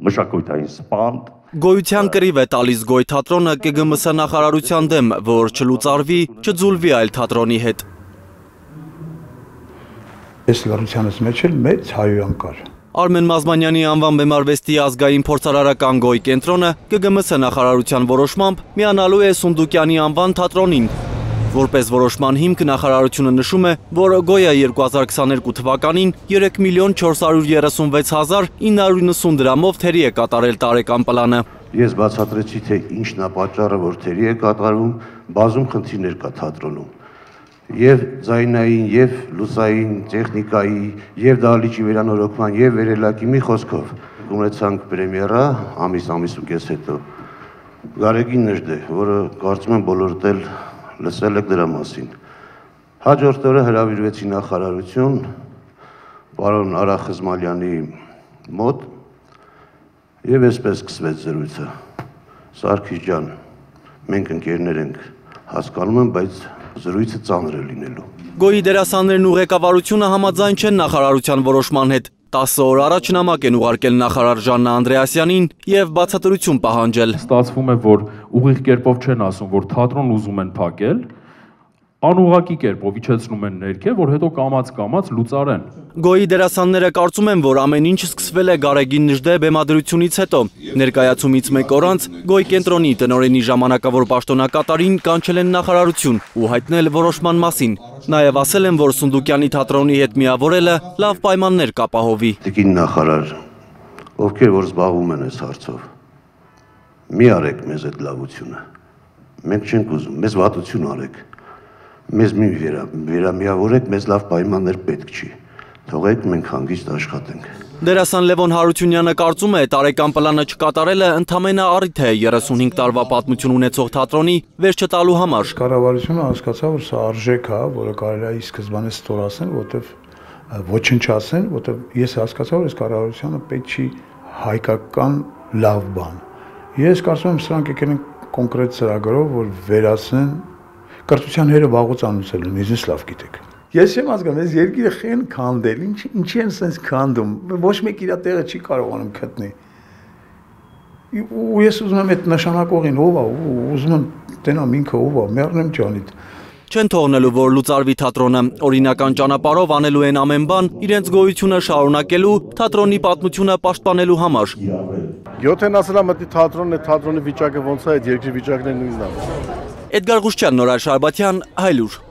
մշակութային սպանդ։ Գոյության կռիվ է տալիս Գոյ թատրոնը ԿԳՄՍ նախարարության դեմ, որ չլուծարվի, չձուլվի այլ թատրոնի հետ։ Այս լրությունից մեջ էլ մեծ հայոյան կար։ Արմեն Մազմանյանի անվան բեմարվեստի ազգային փորձարարական Գոյ կենտրոնը ԿԳՄՍ նախարարության որոշմամբ միանալու է Սունդուկյանի անվան թատրոնին։ Որպես որոշման հիմք նախարարությունը նշում է, որ Գոյը 2022 թվականին 3,436,990 դրամով թերի է կատարել տարեկան պլանը։ Ես բացատրեցի, թե ինչն է պատճառը, որ թերի է կատարվում, բազում խնդիրներ կա թատրոնում։ Եվ ձայնային, եւ լուսային, տեխնիկայի, եւ դահլիճի վերանորոգման, եւ վերելակի մի խոսքով ունեցանք պրեմիերա ամիս ու կես հետո։ Գարեգին Նժդե, որը կարծում եմ բոլորդ էլ լսել եք դրա մասին։ Հաջորդ օրը հրավիրվեցի նախարարություն պարոն Արա Խզմալյանի մոտ եւ այսպես սկսվեց զրույցը։ Սարգիս ջան, մենք ընկերներ ենք, հասկանում եմ, բայց զրույցը ծանր է լինելու։ Գոյի դերասաններն ու ղեկավարությունը համաձայն չեն նախարարության որոշման հետ։ 10 օր առաջ նամակ են ուղարկել նախարար Ժաննա Անդրեասյանին եւ բացատրություն պահանջել։ Ստացվում է, որ ուղիղ կերպով չեն ասում, որ թատրոն ուզում են փակել, անուղղակի կերպով իջեցնում են ներքև, որ հետո կամաց լուծարեն։ Գոյի դերասանները կարծում են, որ ամեն ինչ սկսվել է Գարեգին Նժդե բեմադրությունից հետո։ Ներկայացումից մեկ օր անց Գոյ կենտրոնի տնօրենի ժամանակավոր պաշտոնակատարին կանչել են նախարարություն ու հայտնել որոշման մասին։ Նաև ասել են, որ Սունդուկյանի թատրոնի հետ միավորելը լավ պայմաններ կապահովի։ Տիկին նախարար, ովքեր որ զբաղվում են այս հարցով, մի արեք մեզ այդ լավությունը։ Մենք չենք ուզում, մեզ վատություն արեք։ Մեզ մի վերամիավորեք, մեզ լավ պայմաններ պետք չի։ Թողեք մենք հանգիստ աշխատենք։ Դերասան Լևոն Հարությունյանը կարծում է, տարեկան պլանը չկատարելը ընդամենը առիթ է 35 տարվա պատմություն ունեցող թատրոնի վերջ տալու համար։ Կառավարությունը հասկացավ, որ սա արժեք է, որը կարելի է ի սկզբանե ստորացնել, որտեղ ոչնչացնել, որտեղ ես հասկացա, որ այս կառավարությունը պետք չի հայկական լավ բան։ Ես կարծում եմ, սրանք եկել են կոնկրետ ծրագրով, որ վերացնեն կրթության հերը վաղուց անուցել են, ինձ լավ գիտեք։ Ես չեմ հասկանում, այս երկիրը խեն քանդել, ինչի են sense քանդում, ոչ մեկ իր տեղը չի կարողանում գտնել։ Ու ես ուզում եմ այդ նշանակողին ով է, ուզում եմ տենամ ինքը ով է, մեռնեմ ջանիդ։ Չեն թողնելու, որ լուծարվի թատրոնը, օրինական ճանապարհով անելու են ամեն բան, իրենց գոյությունը շարունակելու, թատրոնի պատմությունը պաշտպանելու համար։ Յոթեն ասելա մտի թատրոնի վիճակը ոնց է, այդ երկրի վիճակն է նույնն է։ Էդգար Ղուշչյան, Նորայր Շարբաթյան, Հայլուր։